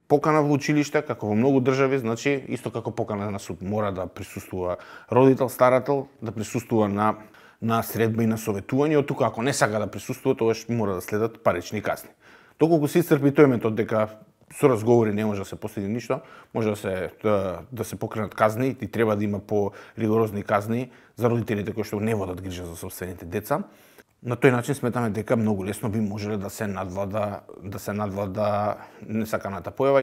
покана во училиште, како во многу држави, значи исто како покана на суд, мора да присуствува родител, старател, да присуствува на средба и на советување, од тука ако не сака да присуствува, тогаш мора да следат парични казни. Доколку се исцрпи тој метод дека со разговори не може да се постигне ништо, може да се покренат казни и треба да има по-ригорозни казни за родителите кои што не водат грижа за сопствените деца. На тој начин сметаме дека многу лесно би можеле да се надвлада несаканата појава.